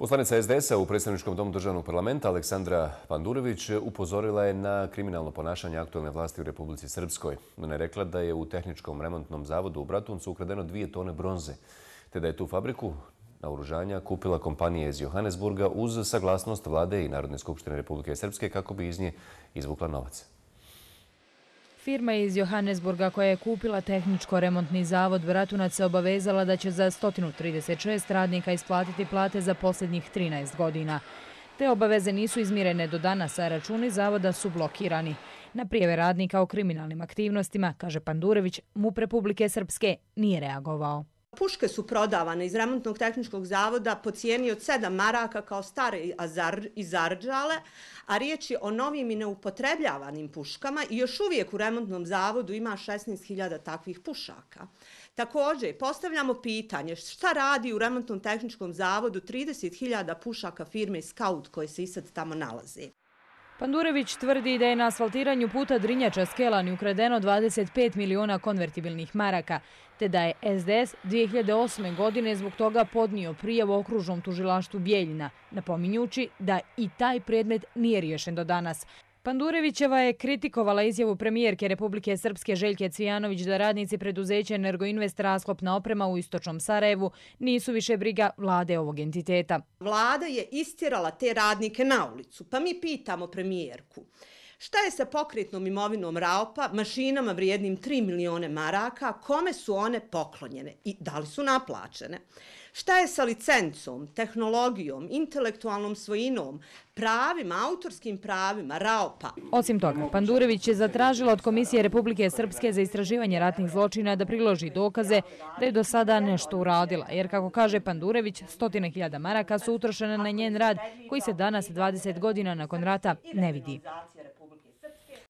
Poslanica SDS-a u predstavničkom domu državnog parlamenta Aleksandra Pandurević upozorila je na kriminalno ponašanje aktualne vlasti u Republici Srpskoj. Ona je rekla da je u tehničkom remontnom zavodu u Bratuncu ukradeno 2 tone bronze, te da je tu fabriku naoružanja kupila kompanija iz Johannesburga uz saglasnost vlade i Narodne skupštine Republike Srpske kako bi iz nje izvukla novac. Firma iz Johannesburga koja je kupila tehničko-remontni zavod Bratunac se obavezala da će za 136 radnika isplatiti plate za posljednjih 13 godina. Te obaveze nisu izmirene do danas, a računi zavoda su blokirani. Na prijave radnika o kriminalnim aktivnostima, kaže Pandurević, MUP Republike Srpske nije reagovao. Puške su prodavane iz remontnog tehničkog zavoda po cijeni od 7 maraka kao stare i zarđale, a riječ je o novim i neupotrebljavanim puškama i još uvijek u remontnom zavodu ima 16.000 takvih pušaka. Također, postavljamo pitanje šta radi u remontnom tehničkom zavodu 30.000 pušaka firme Scout koje se i sad tamo nalaze. Pandurević tvrdi da je na asfaltiranju puta Drinjača-Skelani ukradeno 25 miliona konvertibilnih maraka, te da je SDS 2008. godine zbog toga podnio prijavu okružnom tužilaštvu Bijeljina, napominjući da i taj predmet nije riješen do danas. Pandurevićeva je kritikovala izjavu premijerke Republike Srpske Željke Cvijanović da radnici preduzeća Energoinvest rasklopna oprema u istočnom Sarajevu nisu više briga vlade ovog entiteta. Vlada je istjerala te radnike na ulicu, pa mi pitamo premijerku. Šta je sa pokretnom imovinom Raopa, mašinama vrijednim 3 milione maraka, kome su one poklonjene i da li su naplaćene? Šta je sa licencom, tehnologijom, intelektualnom svojinom, pravima, autorskim pravima Raopa? Osim toga, Pandurević je zatražila od Komisije Republike Srpske za istraživanje ratnih zločina da priloži dokaze da je do sada nešto uradila, jer kako kaže Pandurević, 100.000 maraka su utrošene na njen rad koji se danas 20 godina nakon rata ne vidi.